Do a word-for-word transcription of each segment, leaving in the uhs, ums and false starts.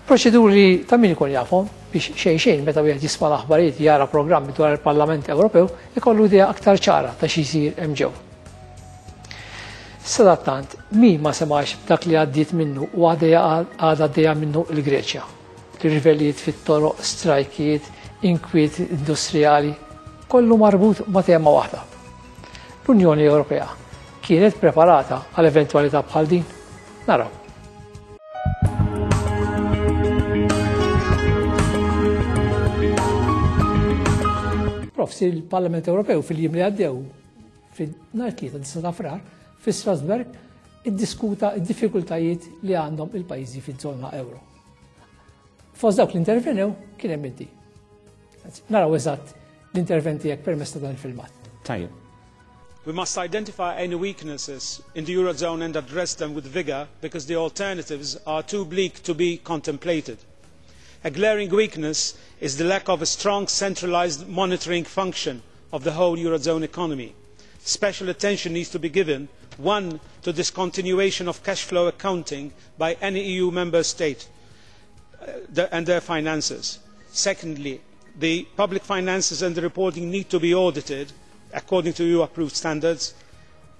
Proċeduri ta' min ikun jafhom biex xejn xejn meta wieħed jisma' l-aħbarijiet, jara programmi dwar il-Parlament Ewropew, ikollu idea aktar ċara ta' xi jsir hemm ġew. Sadattant, min ma semax dak li għaddiet minnu u għadha għaddejja minnu l-Greċja? Rivellijiet fit-toroq, strajkijiet, inkwiet industrijali, kollu marbut ma' tema waħda. L-Unjoni Ewropea kienet preparata għal eventwalità bħal din? Naraw. Prof, il-Parlament Ewropew fil-jiem li għaddew, fil-nhar tlieta disgħa ta' Frar, fi Strasburg, iddiskuta d-diffikultajiet li għandhom il-pajjiżi fiż-żona euro. Fost dawk li intervenew kien hemm inti. Naraw eżatt l-intervent tiegħek permezz ta' dan il-filmat. Tajjeb. We must identify any weaknesses in the Eurozone and address them with vigour, because the alternatives are too bleak to be contemplated. A glaring weakness is the lack of a strong centralised monitoring function of the whole Eurozone economy. Special attention needs to be given, one, to discontinuation of cash flow accounting by any E U member state and their finances. Secondly, the public finances and the reporting need to be audited according to E U approved standards.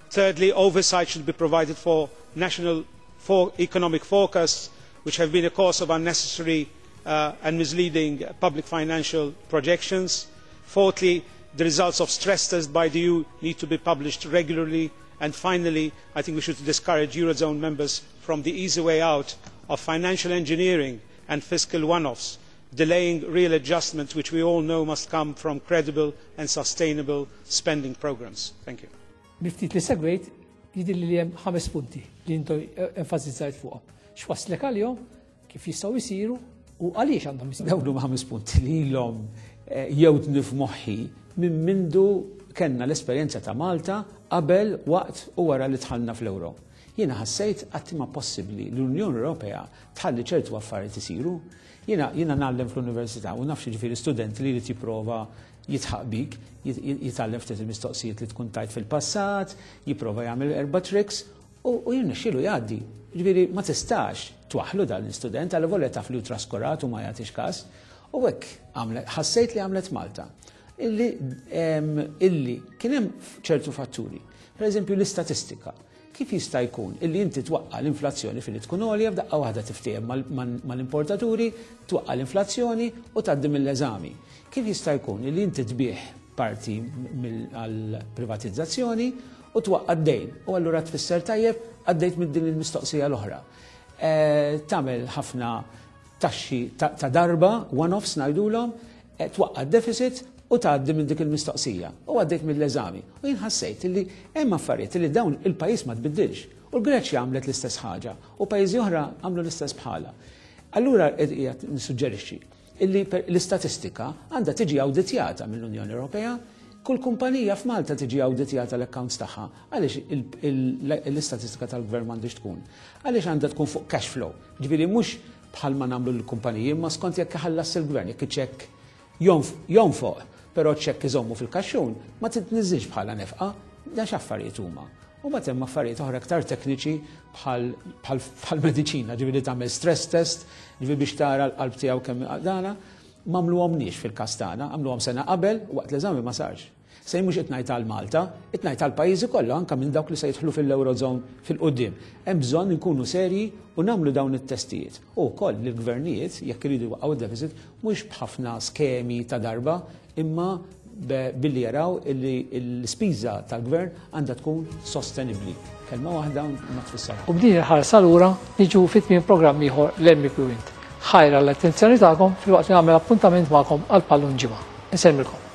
Thirdly, oversight should be provided for national for economic forecasts, which have been a cause of unnecessary, uh, and misleading public financial projections. Fourthly, the results of stress tests by the E U need to be published regularly. And finally, I think we should discourage Eurozone members from the easy way out of financial engineering and fiscal one-offs, delaying real adjustments which we all know must come from credible and sustainable spending programmes. Thank you. Miftit li segwejt jidhirli li hemm ħames punti li intom enfasizzajt fuqhom. X'waslek għalihom, kif jistgħu jsiru u għaliex għandhom jsiru? Dawn huma ħames punti li ilhom, eh, jewdni f'moħħi minn mindu kellna l-esperjenza ta' Malta qabel, waqt u wara li dħalna fl-Ewro. Jiena ħassejt qatt ma possibbli li l-Unjoni Ewropea tħalli ċertu affarijiet isiru. Jiena, jiena ngħallem fl-università u naf ġifieri student li jrid jipprova jitħaq bik, jit-, jit-, jitgħallem ftit il-mistoqsijiet li tkun tajt fil-passat, jipprova jagħmel erba' tricks u, u jirnexxielu jgħaddi. Ġifieri ma tistax twaħħlu dan l-istudent għal volja taf li hu traskurat u ma jagħtix każ. U hekk għamlet, ħassejt li għamlet Malta. Illi, em, illi kien hemm ċertu fatturi. Per eżempju l-istatistika. Kif jista' jkun illi inti twaqqa' l-inflazzjoni filli tkun għolja, f'daqqa waħda tiftiehem mal-, mal-, mal-importaturi, twaqqa' l-inflazzjoni u tgħaddi mill-eżami. Kif jista' jkun illi inti tbigħ parti mill-, għall-privatizzazzjoni u twaqqa' d-dejn u allura tfisser tajjeb għaddejt minn din il-mistoqsija l-oħra. Eh, tagħmel ħafna taxxi ta', ta' darba, one-offs ngħidulhom, eh, twaqqa' d-deficit u tgħaddi minn dik il-mistoqsija u għaddejt mill-eżami. U jien ħassejt li hemm affarijiet li dawn il-pajjiż ma tbiddilx. U l-Greċja għamlet l-istess ħaġa u pajjiżi oħra għamlu l-istess bħala. Allura qiegħed nissuġġerixxi illi l-istatistika għandha tiġi awditjata mill-Unjoni Ewropea, kull kumpanija f'Malta tiġi awditjata l-accounts tagħha. Għaliex il-, il-, l-istatistika tal-gvern m'għandix tkun? Għaliex għandha tkun fuq cash flow? Ġifieri mhux bħalma nagħmlu l-kumpaniji, imma skont jekk iħallas il-gvern, jekk iċ-ċekk jonf-, jonfoq, però ċekk iżommu fil-kaxxun, ma titniżżilx bħala nefqa, dan x'affarijiet huma. U mbagħad hemm affarijiet oħra aktar tekniċi bħal, bħal, bħal mediċina, ġifieri tagħmel stress test, ġifieri biex tara l-qalb tiegħu kemm dana, m'għamluhomniex fil-każ tagħna, għamluhom sena qabel waqt l-eżami ma sarx. Se mhux qed ngħid għal Malta, qed ngħid għal pajjiżi kollha anke minn dawk li se jidħlu fil-Eurozone fil-qudiem. Hemm bżonn inkunu serji u nagħmlu dawn it-testijiet. U wkoll lill-gvernijiet jekk iridu jwaqqgħu id-deficit mhux b'ħafna skemi ta' darba, imma be-, billi jaraw illi l-ispiża tal-gvern għandha tkun sostenibbli. Kelma waħda ma tfisser. U b'din il-ħarsa lura niġu fi tmiem programm ieħor l-M E P Wint. Ħajra l-attenzjoni tagħkom filwaqt li nagħmel appuntament magħkom għal pallun ġimgħa. Insellmilkom.